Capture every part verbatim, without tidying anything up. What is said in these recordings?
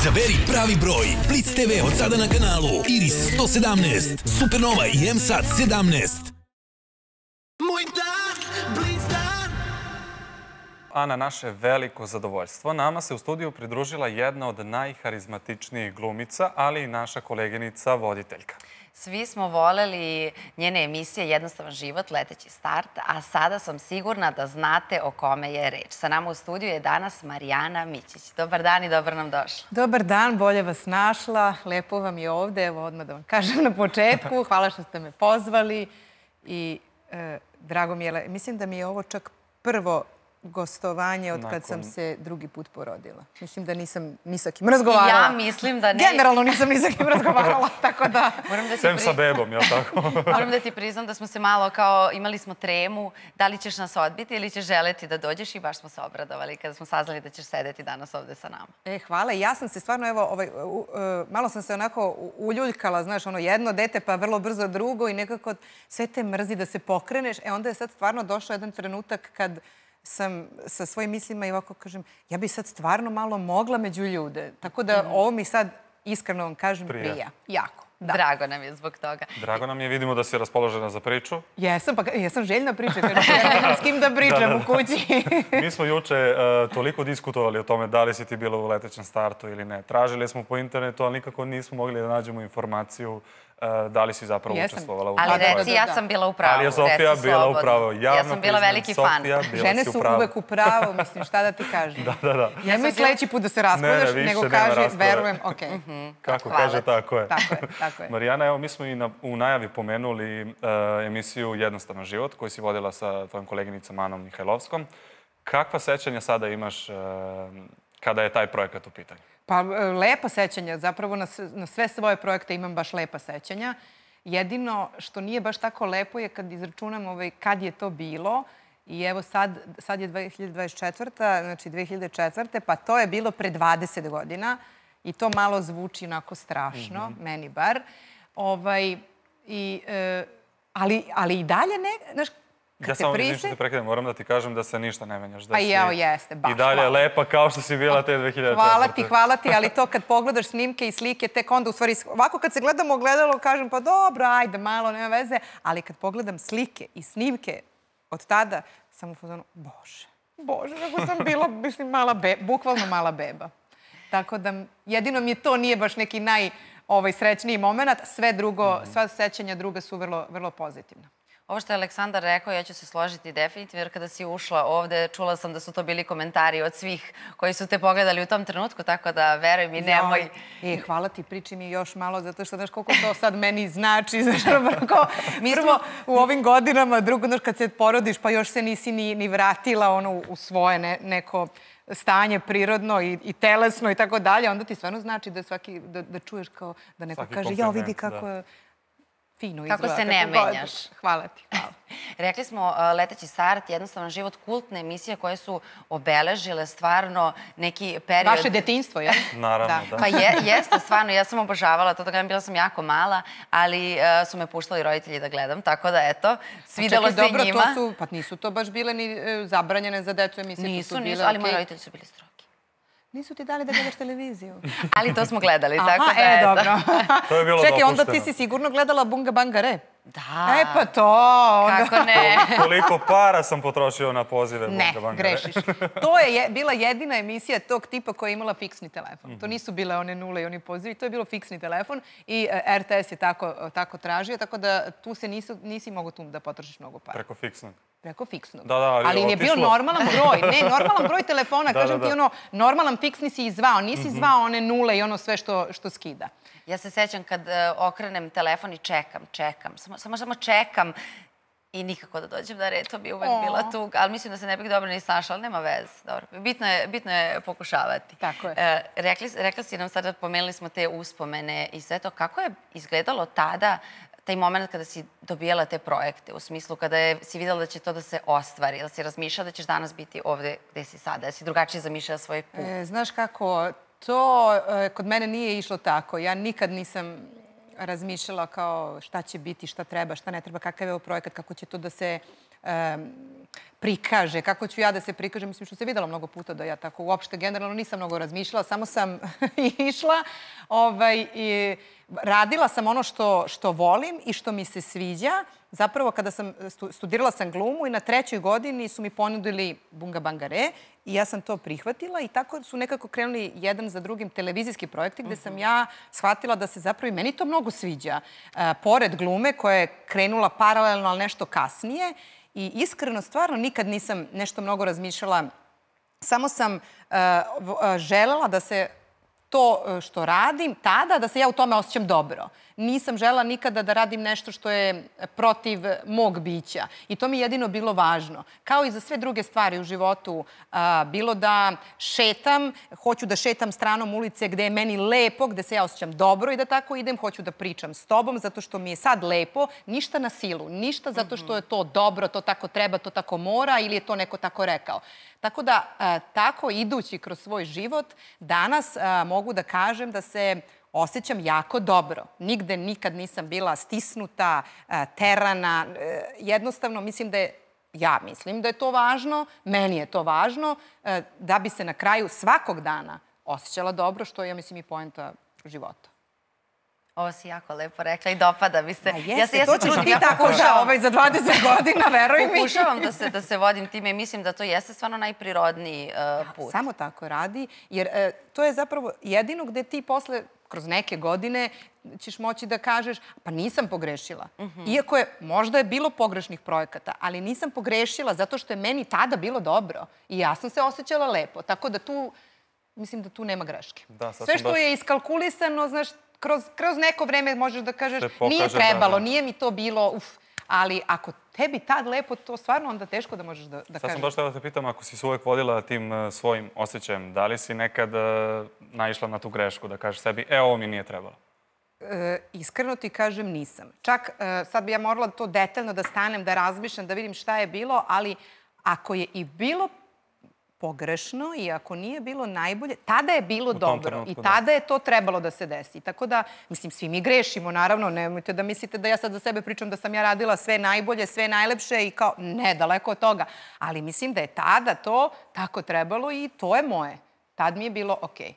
Izaberi pravi broj. Blitz te ve od sada na kanalu Iris sto sedamnaest, Supernova i M SAT sedamnaest. Moj dan, Blitz dan. A na naše veliko zadovoljstvo, nama se u studiju pridružila jedna od najharizmatičnijih glumica, ali i naša koleginica voditeljka. Svi smo voleli njene emisije Jednostavan život, Leteći start, a sada sam sigurna da znate o kome je reč. Sa nama u studiju je danas Marijana Mićić. Dobar dan i dobro nam došla. Dobar dan, bolje vas našla. Lepo vam je ovde, evo odmah da vam kažem na početku. Hvala što ste me pozvali i e, drago mi je, mislim da mi je ovo čak prvo gostovanje od kad sam se drugi put porodila. Mislim da nisam ni sa kim razgovarala. Ja mislim da ne. Generalno nisam ni sa kim razgovarala, tako da... Sem sa bebom, jel tako? Moram da ti priznam da smo se malo kao, imali smo tremu, da li ćeš nas odbiti ili ćeš želeti da dođeš i baš smo se obradovali kada smo saznali da ćeš sedeti danas ovde sa nama. E, hvala. Ja sam se stvarno, evo, ovaj, malo sam se onako uljuljkala, znaš, ono jedno dete pa vrlo brzo drugo i nekako sve te mrzi da se pokreneš. E, onda je sad stvarno došao jedan trenutak kad sam sa svojim mislima i ovako kažem, ja bi sad stvarno malo mogla među ljude. Tako da ovo mi sad, iskreno vam kažem, prija. Jako. Drago nam je zbog toga. Drago nam je, vidimo da si raspoložena za priču. Jesam, pa jesam željna priča, jer ja nemam s kim da pričam u kući. Mi smo juče toliko diskutovali o tome da li si ti bila u letećem startu ili ne. Tražili smo po internetu, ali nikako nismo mogli da nađemo informaciju da li si zapravo učestvovala u tome. Ali reci, ja sam bila u pravu. Ali je Sofija bila u pravu. Ja sam bila veliki fan. Žene su uvek u pravu, mislim, šta da ti kažem. Da, da, da. Nemoj sledeći put da se raspodaš, nego kaži, verujem, okej. Kako kaže, tako je. Tako je, tako je. Marijana, evo, mi smo i u najavi pomenuli emisiju Jednostavan život, koju si vodila sa tvojom koleginicom Anom Mihajlovskom. Kakva sećanja sada imaš kada je taj projekat u pitanju? Pa, lepa sećanja. Zapravo na sve svoje projekte imam baš lepa sećanja. Jedino što nije baš tako lepo je kad izračunam kad je to bilo. I evo sad je dve hiljade dvadeset četvrta. znači dve hiljade četvrte. pa to je bilo pre dvadeset godina. I to malo zvuči onako strašno, meni bar. Ali i dalje ne... Ja samo vidim što te prekidam, moram da ti kažem da se ništa ne menjaš. Pa jeo, jeste, baš. I dalje lepa kao što si bila te dve hiljade četvrte. Hvala ti, hvala ti, ali to kad pogledaš snimke i slike, tek onda u stvari, ovako kad se gledamo ogledalo, kažem pa dobro, ajde, malo, nema veze, ali kad pogledam slike i snimke od tada, sam u fazonu, bože, bože, kako sam bila, mislim, mala beba, bukvalno mala beba. Tako da, jedino mi je to nije baš neki najsrećniji moment, sve drugo, sva sećanja druga su vrlo pozitivna. Ovo što je Aleksandar rekao, ja ću se složiti definitivno, jer kada si ušla ovde, čula sam da su to bili komentari od svih koji su te pogledali u tom trenutku, tako da veruj mi, nemoj... E, hvala ti, priči mi još malo, zato što znaš koliko to sad meni znači, znaš, prvo u ovim godinama, drugo, znaš, kad se porodiš, pa još se nisi ni vratila u svoje neko stanje prirodno i telesno i tako dalje, onda ti stvarno znači da čuješ kao da neko kaže, jao, vidi kako je... Kako se ne menjaš. Hvala ti, hvala. Rekli smo Leteći start, Jednostavan život, kultne emisije koje su obeležile stvarno neki period... Vaše detinjstvo, je? Naravno, da. Pa jeste, stvarno, ja sam obožavala to, da gledam, bila sam jako mala, ali su me puštali roditelji da gledam, tako da eto, svidelo se i njima. Pa nisu to baš bile ni zabranjene za decu emisije. Nisu, nisu, ali moji roditelji su bili strogi. Nisu ti dali da gledaš televiziju. Ali to smo gledali, tako da je... Aha, e, dobro. To je bilo dopušteno. Čekaj, onda ti si sigurno gledala Bunga Banga Re. Da. E, pa to... Kako ne? Koliko para sam potrošio na pozive Bunga Banga Re. Ne, grešiš. To je bila jedina emisija tog tipa koja je imala fiksni telefon. To nisu bile one nule i oni pozivi, to je bilo fiksni telefon i R T S je tako tražio, tako da tu se nisi mogo tu da potrošiš mnogo para. Preko fiksnog. Preko fiksnog. Da, da, ali ali je bio normalan broj. Ne, normalan broj telefona. Kažem ti ono, normalan fiksni si izvao. Nisi zvao one nule i ono sve što skida. Ja se sećam kad okrenem telefon i čekam, čekam. Samo samo čekam i nikako da dođem da red. To bi uvek bila tuga. Ali mislim da se ne bih dobro ni snašla, ali nema veze. Dobro. Bitno je pokušavati. Tako je. Rekla si nam sada, pomenuli smo te uspomene i sve to. Kako je izgledalo tada taj moment kada si dobijala te projekte, u smislu kada si videla da će to da se ostvari, da si razmišljala da ćeš danas biti ovde gde si sada, da si drugačije zamišljala svoj put? Znaš kako, to kod mene nije išlo tako. Ja nikad nisam razmišljala kao šta će biti, šta treba, šta ne treba, kakav je ovo projekat, kako će to da se prikaže, kako ću ja da se prikažem. Mislim što se videla mnogo puta da ja tako uopšte generalno nisam mnogo razmišljala, samo sam išla. Radila sam ono što volim i što mi se sviđa. Zapravo, kada sam studirala sam glumu i na trećoj godini su mi ponudili Bunga Bangare i ja sam to prihvatila i tako su nekako krenuli jedan za drugim televizijski projekti gde sam ja shvatila da se zapravo i meni to mnogo sviđa. Pored glume koja je krenula paralelno, ali nešto kasnije. I iskreno, stvarno, nikad nisam nešto mnogo razmišljala. Samo sam želela da se to što radim tada, da se ja u tome osjećam dobro. Nisam želela nikada da radim nešto što je protiv mog bića. I to mi je jedino bilo važno. Kao i za sve druge stvari u životu. Bilo da šetam, hoću da šetam stranom ulice gde je meni lepo, gde se ja osjećam dobro i da tako idem. Hoću da pričam s tobom zato što mi je sad lepo. Ništa na silu. Ništa zato što je to dobro, to tako treba, to tako mora ili je to neko tako rekao. Tako da, tako idući kroz svoj život, danas mogu da kažem da se osjećam jako dobro. Nigde nikad nisam bila stisnuta, terana. Jednostavno, mislim da je, ja mislim da je to važno, meni je to važno, da bi se na kraju svakog dana osjećala dobro, što je, ja mislim, i poenta života. Ovo si jako lepo rekla i dopada mi se. Jeste, to ćeš ti tako za dvadeset godina, veruj mi. Pokušavam da se vodim time i mislim da to jeste stvarno najprirodniji put. Samo tako radi, jer to je zapravo jedino gde ti posle, kroz neke godine, ćeš moći da kažeš, pa nisam pogrešila. Iako je, možda je bilo pogrešnih projekata, ali nisam pogrešila zato što je meni tada bilo dobro i ja sam se osjećala lepo. Tako da tu, mislim da tu nema greške. Sve što je iskalkulisano, znaš, kroz neko vreme možeš da kažeš nije trebalo, nije mi to bilo, uf, ali ako tebi tad lepo, to stvarno onda teško da možeš da kažeš. Sad sam baš htjela da te pitam, ako si se uvek vodila tim svojim osjećajem, da li si nekad naišla na tu grešku, da kažeš sebi, e, ovo mi nije trebalo? Iskreno ti kažem, nisam. Čak sad bi ja morala to detaljno da stanem, da razmišljam, da vidim šta je bilo, ali ako je i bilo pogrešno i ako nije bilo najbolje, tada je bilo dobro i tada je to trebalo da se desi. Tako da, mislim, svi mi grešimo, naravno, nemojte da mislite da ja sad za sebe pričam da sam ja radila sve najbolje, sve najlepše i kao, ne, daleko od toga. Ali mislim da je tada to tako trebalo i to je moje. Tad mi je bilo okej.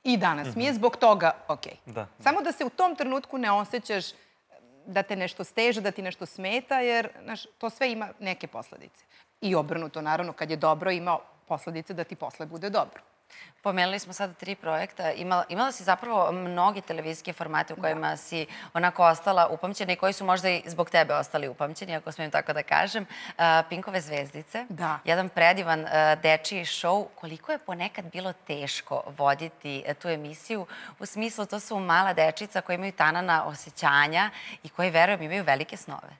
I danas mi je zbog toga okej. Samo da se u tom trenutku ne osjećaš da te nešto steže, da ti nešto smeta, jer to sve ima neke posledice. I obrnuto, naravno, kad je dobro, ima posledice da ti posle bude dobro. Pomenuli smo sada tri projekta. Imala si zapravo mnogi televizijske formate u kojima si onako ostala upamćena i koji su možda i zbog tebe ostali upamćeni, ako smijem tako da kažem. Pinkove zvezdice. Jedan predivan dečiji šou. Koliko je ponekad bilo teško voditi tu emisiju? U smislu, to su mala dečica koja imaju tanana osjećanja i koji, verujem, imaju velike snove.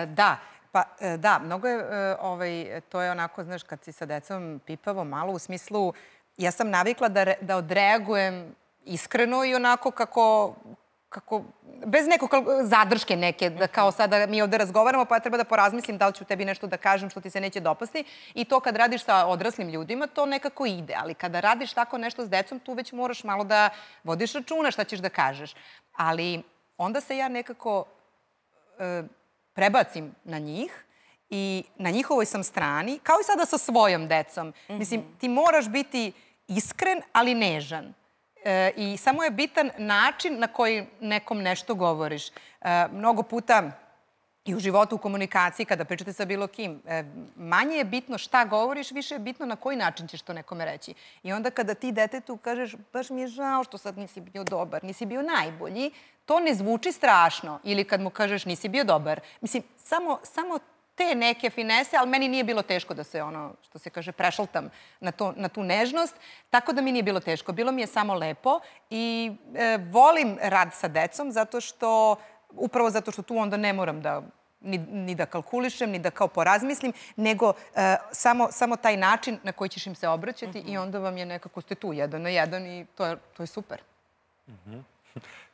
Da. Pa da, mnogo je, to je onako, znaš, kad si sa decom pipavo malo, u smislu, ja sam navikla da odreagujem iskreno i onako kako, kako, bez nekog zadrške neke, da kao sada mi ovde razgovaramo, pa ja treba da porazmislim da li ću tebi nešto da kažem što ti se neće dopasti. I to kad radiš sa odraslim ljudima, to nekako ide. Ali kada radiš tako nešto s decom, tu već moraš malo da vodiš računa šta ćeš da kažeš. Ali onda se ja nekako prebacim na njih i na njihovoj sam strani, kao i sada sa svojom decom. Mislim, ti moraš biti iskren, ali nežan. I samo je bitan način na koji nekom nešto govoriš. Mnogo puta i u životu, u komunikaciji, kada pričate sa bilo kim, manje je bitno šta govoriš, više je bitno na koji način ćeš to nekome reći. I onda kada ti detetu kažeš, baš mi je žao što sad nisi bio dobar, nisi bio najbolji, to ne zvuči strašno. Ili kad mu kažeš nisi bio dobar. Mislim, samo te neke finese, ali meni nije bilo teško da se ono, što se kaže, prešaltam na tu nežnost. Tako da mi nije bilo teško. Bilo mi je samo lepo i volim rad sa decom zato što, upravo zato što tu onda ne moram da ni da kalkulišem, ni da kao porazmislim, nego samo taj način na koji ćeš im se obraćati i onda vam je nekako ste tu jedan na jedan i to je super.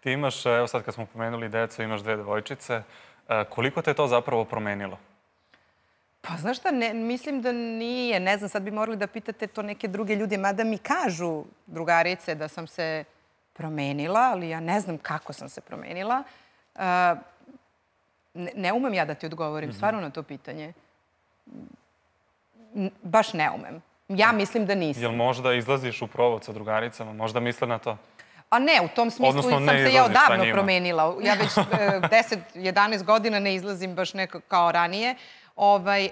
Ti imaš, evo sad kad smo pomenuli decu, imaš dve devojčice. Koliko te to zapravo promenilo? Pa znaš šta, mislim da nije. Ne znam, sad bi morali da pitate to neke druge ljude, mada mi kažu drugarice da sam se promenila, ali ja ne znam kako sam se promenila. Ne umem ja da ti odgovorim stvarno na to pitanje. baš ne umem. Ja mislim da nisam. Jel možda izlaziš u provod sa drugaricama? Možda misle na to? A ne, u tom smislu Odnosno, sam ne se ja izlaziš sa odavno njima. promenila. Ja već deset jedanaest godina ne izlazim baš nekako kao ranije. Ovaj,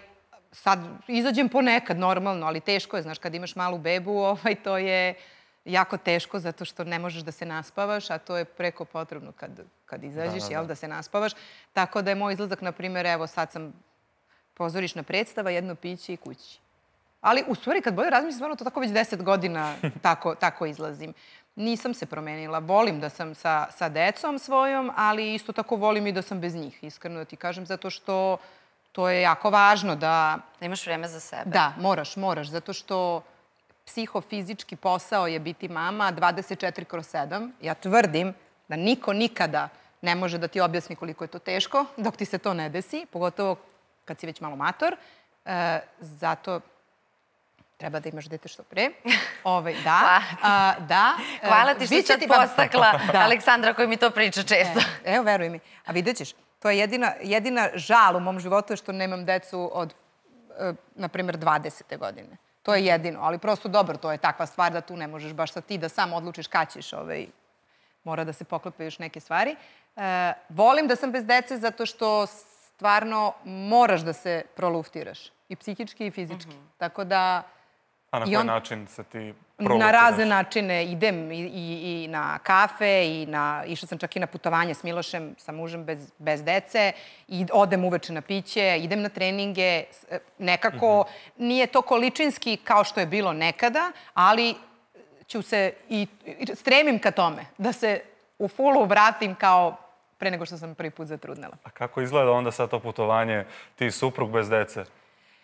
sad izađem ponekad, normalno, ali teško je. Znaš, kad imaš malu bebu, ovaj, to je jako teško zato što ne možeš da se naspavaš, a to je preko potrebno kad, kad izađeš, Da, da, jel, da. da se naspavaš. Tako da je moj izlazak, na primjer, evo sad sam pozorišna predstava, jedno piće i kući. Ali u stvari, kad bolje razmislim, stvarno to tako već deset godina tako, tako izlazim. Nisam se promenila. Volim da sam sa, sa decom svojom, ali isto tako volim i da sam bez njih, iskreno da ti kažem, zato što to je jako važno da... Da imaš vreme za sebe. Da, moraš, moraš, zato što psihofizički posao je biti mama dvadeset četiri kroz sedam. Ja tvrdim da niko nikada ne može da ti objasni koliko je to teško dok ti se to ne desi, pogotovo kad si već malo mator. E, zato treba da imaš dete što pre. Ove, da, a, da. Hvala ti što Biće sad ti vam- postakla Da. Aleksandra koji mi to priča često. E, evo, veruj mi. A vidjet ćeš, to je jedina, jedina žal u mom životu je što nemam decu od, e, na primjer, dvadesete godine. To je jedino, ali prosto dobro, to je takva stvar da tu ne možeš baš sad ti da sam odlučiš kad ćeš, ovaj, mora da se poklope još neke stvari. E, volim da sam bez dece zato što stvarno moraš da se proluftiraš. I psihički i fizički. Tako da... A na I koji on- način se ti Na provociraš? razne načine idem i, i, i na kafe, i na, išla sam čak i na putovanje s Milošem, sa mužem bez, bez dece, i odem uveče na piće, idem na treninge. S- e, Nekako nije to količinski kao što je bilo nekada, ali ću se i, i stremim ka tome, da se u fulu vratim kao pre nego što sam prvi put zatrudnela. A kako izgleda onda sad to putovanje, ti i suprug bez dece?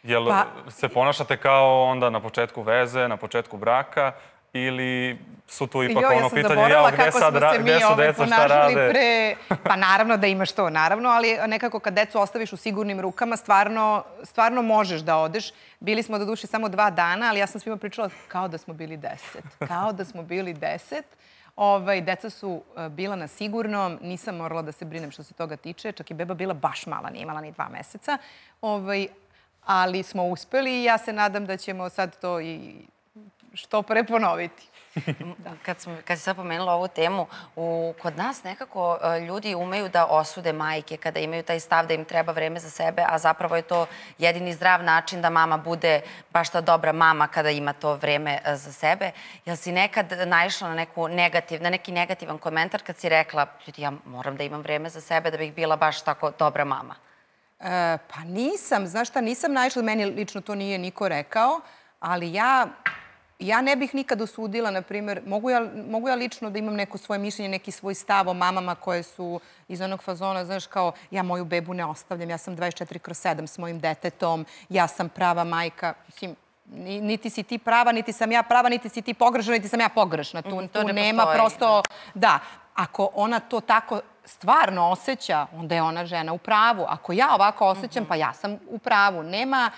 Jel Pa- se ponašate kao onda na početku veze, na početku braka, ili su tu ipak Joj, ono ja sam pitanje, zaboravila jao, gde kako sad, smo ra- se mi gde su ovaj deca, šta ponašali rade? pre... Pa naravno da imaš to, naravno, ali nekako kad decu ostaviš u sigurnim rukama, stvarno, stvarno možeš da odeš. Bili smo do duše samo dva dana, ali ja sam svima pričala kao da smo bili deset. Kao da smo bili deset. Ovaj, deca su e, bila na sigurnom, nisam morala da se brinem što se toga tiče, čak i beba bila baš mala, nije imala ni dva meseca. Ovaj, ali smo uspeli i ja se nadam da ćemo sad to i što pre ponoviti. Kad, smo, kad si sad pomenula ovu temu, u, kod nas nekako e, ljudi umeju da osude majke kada imaju taj stav da im treba vreme za sebe, a zapravo je to jedini zdrav način da mama bude baš ta dobra mama kada ima to vreme e, za sebe. Jel si nekad naišla na, neku negativ, na neki negativan komentar kad si rekla, ljudi, ja moram da imam vreme za sebe da bih bila baš tako dobra mama? E, pa nisam, znaš šta, nisam naišla, meni lično to nije niko rekao, ali ja, ja ne bih nikad osudila, na primjer, mogu ja, mogu ja lično da imam neko svoje mišljenje, neki svoj stav o mamama koje su iz onog fazona, znaš, kao ja moju bebu ne ostavljam, ja sam dvadeset četiri kroz sedam s mojim detetom, ja sam prava majka, mislim, ni- niti si ti prava, niti sam ja prava, niti si ti pogrešna, niti sam ja pogrešna. Tu, Mhm, to tu ne nema postoji, prosto... Da, ako ona to tako stvarno osjeća, onda je ona žena u pravu. Ako ja ovako osjećam, pa ja sam u pravu. Nema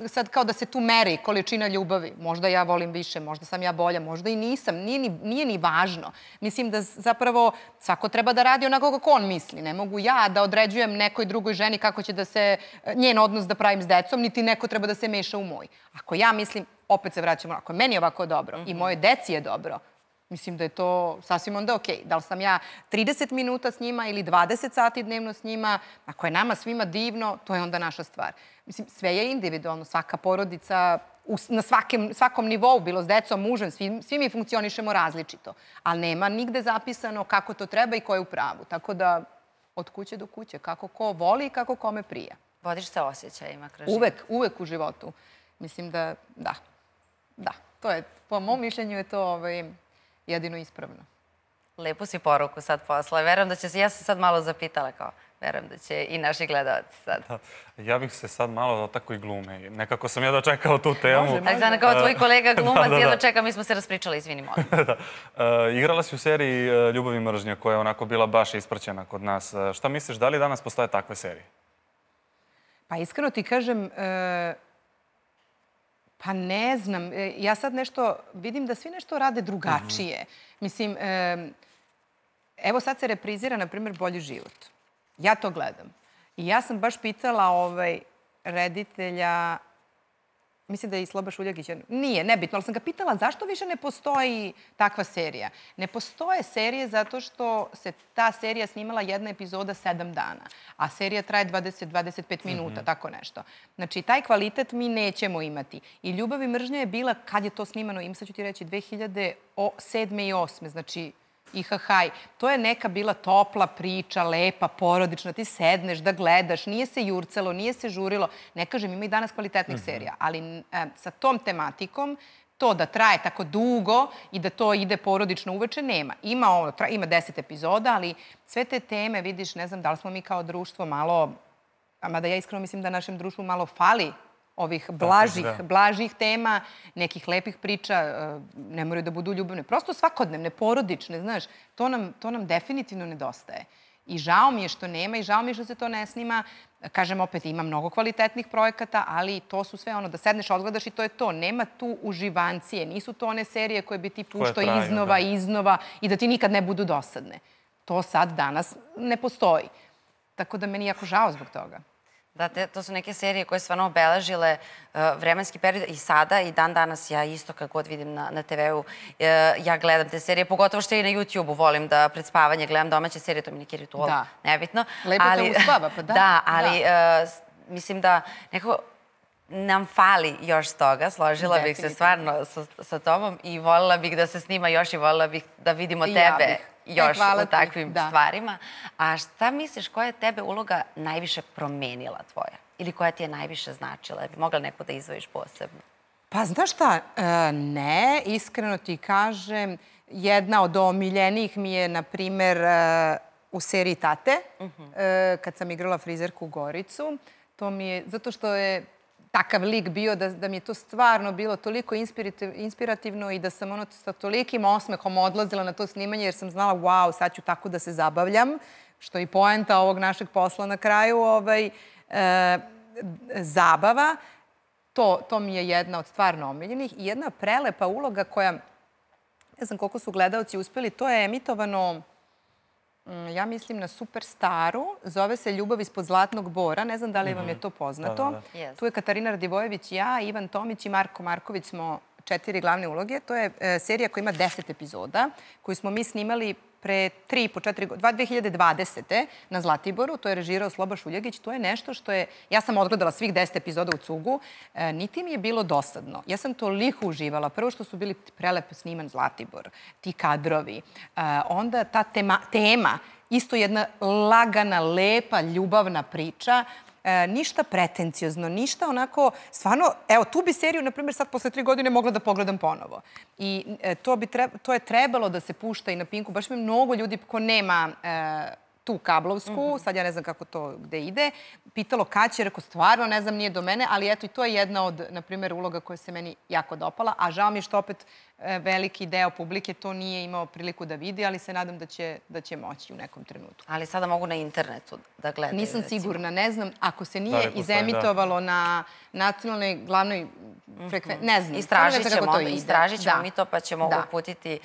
sad kao da se tu meri količina ljubavi. Možda ja volim više, možda sam ja bolja, možda i nisam. Nije ni, nije ni važno. Mislim da zapravo svako treba da radi onako kako on misli. Ne mogu ja da određujem nekoj drugoj ženi kako će da se njen odnos da pravim s decom, niti neko treba da se meša u moj. Ako ja mislim, opet se vraćamo, ako je meni ovako dobro i moje deci je dobro, mislim da je to sasvim onda okej. Da li sam ja trideset minuta s njima ili dvadeset sati dnevno s njima, ako je nama svima divno, to je onda naša stvar. Mislim, sve je individualno, svaka porodica u- na svakem, svakom nivou, bilo s decom, mužem, svi, svi mi funkcionišemo različito. Ali nema nigde zapisano kako to treba i ko je u pravu. Tako da, od kuće do kuće, kako ko voli i kako kome prija. Vodiš se osjećajima kroz život. Uvek, uvek u životu. Mislim da, da, da. To je, po mom mišljenju je to ovaj, jedino ispravno. Lepu si poruku sad posla. Verujem da će se, ja sam sad malo zapitala kao, verujem da će i naši gledalci sad. Da. Ja bih se sad malo dotakao i glume. Nekako sam ja dočekao tu temu. Može, može. Aleksandra, kao tvoj kolega glumac, Da, da, da. jedno čeka, mi smo se raspričali, izvini, molim. Da. E, igrala si u seriji e, Ljubav i mržnja, koja je onako bila baš ispraćena kod nas. E, šta misliš, da li danas postoje takve serije? Pa iskreno ti kažem, e, pa ne znam. E, ja sad nešto, vidim da svi nešto rade drugačije. Mislim, e, evo sad se reprizira, na primjer, Bolji život. Ja to gledam. I ja sam baš pitala ovaj reditelja mislim da je i Sloba Šuljagić, nije, nebitno, ali sam ga pitala zašto više ne postoji takva serija. Ne postoje serije zato što se ta serija snimala jedna epizoda sedam dana, a serija traje dvadeset do dvadeset pet minuta, tako nešto. Znači, taj kvalitet mi nećemo imati. I Ljubav i mržnja je bila, kad je to snimano, im sad ću ti reći, dve hiljade sedme i osme, znači I ha haj. To je neka bila topla priča, lepa, porodična. Ti sedneš da gledaš, nije se jurcalo, nije se žurilo. Ne kažem, ima i danas kvalitetnih serija, ali sa tom tematikom to da traje tako dugo i da to ide porodično uveče, nema. Ima ono, ima deset epizoda, ali sve te teme, vidiš, ne znam da li smo mi kao društvo malo, a mada ja iskreno mislim da našem društvu malo fali ovih blažih, blažih tema, nekih lepih priča, ne moraju da budu ljubavne, prosto svakodnevne, porodične, znaš, to nam, to nam definitivno nedostaje. I žao mi je što nema i žao mi je što se to ne snima. Kažem opet, ima mnogo kvalitetnih projekata, ali to su sve ono da sedneš, odgledaš i to je to. Nema tu uživancije, nisu to one serije koje bi ti puštao iznova i iznova i da ti nikad ne budu dosadne. To sad danas ne postoji. Tako da meni je jako žao zbog toga. Da, to su neke serije koje stvarno obeležile vremenski period i sada i dan danas ja isto kad god vidim na te ve u, ja gledam te serije, pogotovo što i na YouTube-u volim da pred spavanje gledam domaće serije, to mi neki ritual, nebitno. Lepo te uspava, pa da. Da, ali mislim da nekako nam fali još toga, složila bih se stvarno sa tobom i voljela bih da se snima još i voljela bih da vidimo tebe još u takvim stvarima. A šta misliš, koja je tebe uloga najviše promenila tvoja? Ili koja ti je najviše značila? Bi mogla neko da izdvojiš posebno? Pa znaš šta, ne, iskreno ti kažem, jedna od omiljenijih mi je, na primer, u seriji Tate, kad sam igrala frizerku Goricu. To mi je, zato što je takav lik bio da mi je to stvarno bilo toliko inspirativno i da sam ono sa tolikim osmehom odlazila na to snimanje jer sam znala, wow, sad ću tako da se zabavljam, što je i poenta ovog našeg posla na kraju, zabava. To mi je jedna od stvarno omiljenih i jedna prelepa uloga koja, ne znam koliko su gledalci uspeli, to je emitovano, ja mislim, na Superstaru. Zove se Ljubav ispod zlatnog bora. Ne znam da li vam je to poznato. Tu je Katarina Radivojević, ja, Ivan Tomić i Marko Marković smo četiri glavne uloge. To je serija koja ima deset epizoda, koju smo mi snimali pre tri i po četiri godine, dve hiljade dvadesete na Zlatiboru. To je režirao Sloba Šuljagić. To je nešto što je... Ja sam odgledala svih deset epizoda u cugu. Niti mi je bilo dosadno. Ja sam toliko uživala. Prvo što su bili prelepo sniman Zlatibor, ti kadrovi. Onda ta tema, isto jedna lagana, lepa, ljubavna priča. Ništa pretenciozno, ništa onako, stvarno, evo, tu bi seriju, na primjer, sad posle tri godine mogla da pogledam ponovo. I to je trebalo da se pušta i na Pinku. Baš mi mnogo ljudi ko nema tu kablovsku, sad ja ne znam kako to gde ide, pitalo kad će, rekao, stvarno ne znam, nije do mene, ali eto i to je jedna od, na primjer, uloga koja se meni jako dopala, a žao mi je što opet veliki deo publike to nije imao priliku da vidi, ali se nadam da će moći u nekom trenutku. Ali sada mogu na internetu da gledaju. Nisam sigurna, ne znam, ako se nije izemitovalo na nacionalnoj glavnoj frekvenciji, ne znam. Istražit ćemo mi to, pa ćemo uputiti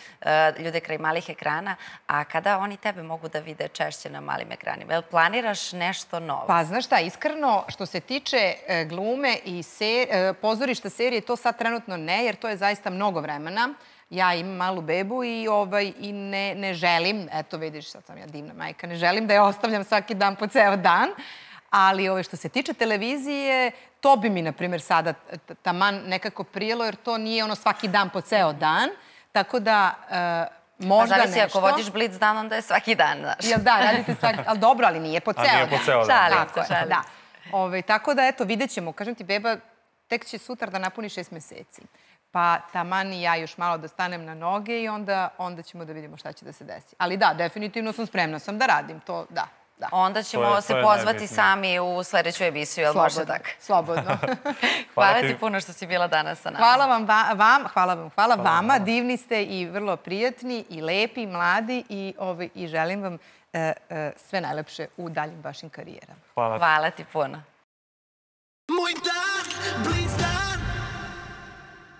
ljude kraj malih ekrana. A kada oni tebe mogu da vide češće na malim ekranima? Jel planiraš nešto novo? Pa, znaš šta, iskreno, što se tiče glume i pozorišta serije, to sad trenutno ne, jer to je zaista mnogo vremena. Ja imam malu bebu i ne želim, eto vidiš, sad sam ja divna majka, ne želim da je ostavljam svaki dan po ceo dan, ali što se tiče televizije, to bi mi, na primjer, sada taman nekako prijelo, jer to nije ono svaki dan po ceo dan, tako da možda nešto... Zavisi, ako vodiš Blitz dan, onda je svaki dan, znaš. Jel da, radite svaki... Ali dobro, ali nije po ceo dan. A nije po ceo dan. Šalim se, šalim. Tako da, eto, vidjet ćemo. Kažem ti, beba tek će sutra da napuni šest meseci. Pa taman i ja još malo da stanem na noge i onda ćemo da vidimo šta će da se desi. Ali da, definitivno sam spremna sam da radim to, da. Onda ćemo se pozvati sami u sledeću emisiju, jel može tako? Slobodno. Hvala ti puno što si bila danas sa nama. Hvala vam, hvala vam, hvala vama. Divni ste i vrlo prijatni i lepi, i mladi i želim vam sve najlepše u daljim vašim karijerama. Hvala ti puno. Moj dan